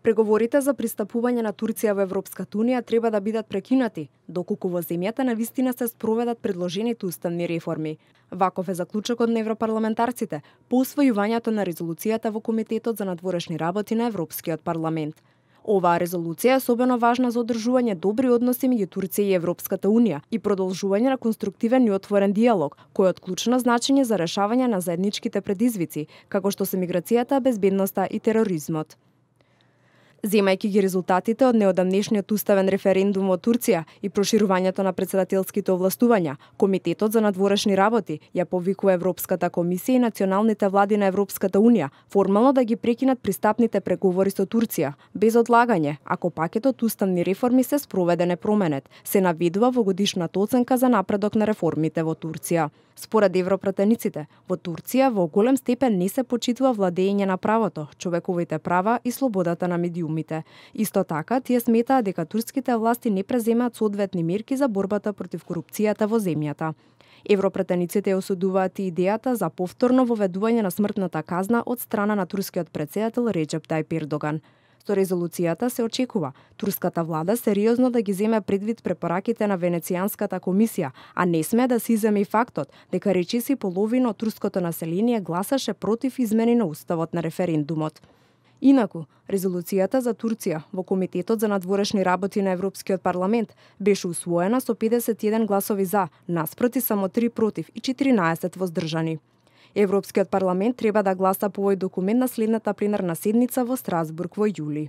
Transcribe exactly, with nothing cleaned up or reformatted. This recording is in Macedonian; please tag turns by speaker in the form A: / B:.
A: Преговорите за пристапување на Турција во Европската унија треба да бидат прекинати, доколку во земјата навистина се спроведат предложените уставни реформи. Ваков е заклучокот на европарламентарците по усвојувањето на резолуцијата во Комитетот за надворешни работи на Европскиот парламент. Оваа резолуција е особено важна за одржување добри односи меѓу Турција и Европската унија и продолжување на конструктивен и отворен диалог, кој е од клучно значење за решавање на заедничките предизвици, како што се миграцијата, безбедноста и тероризмот. Земајќи ги резултатите од неодамнешниот уставен референдум во Турција и проширувањето на председателските овластувања, Комитетот за надворешни работи ја повикува Европската комисија и националните влади на Европската унија формално да ги прекинат пристапните преговори со Турција, без одлагање, ако пакетот уставни реформи се спроведе непроменет, се наведува во годишната оценка за напредок на реформите во Турција. Според европратениците, во Турција во голем степен не се почитува владење на правото, човековите права и слободата на медиумите. Исто така, тие сметаат дека турските власти не преземаат соодветни мерки за борбата против корупцијата во земјата. Европратениците ја осудуваат и идејата за повторно воведување на смртната казна од страна на турскиот претседател Реџеп Тајип Ердоган. Со резолуцијата се очекува турската влада сериозно да ги земе предвид препораките на Венецијанската комисија, а не сме да се иземе и фактот дека речиси половина од турското население гласаше против измени на уставот на референдумот. Инаку, резолуцијата за Турција во Комитетот за надворешни работи на Европскиот парламент беше усвоена со педесет и еден гласови за, наспроти само три против и четиринаесет воздржани. Европскиот парламент треба да гласа по овој документ на следната пленарна седница во Страсбург во јули.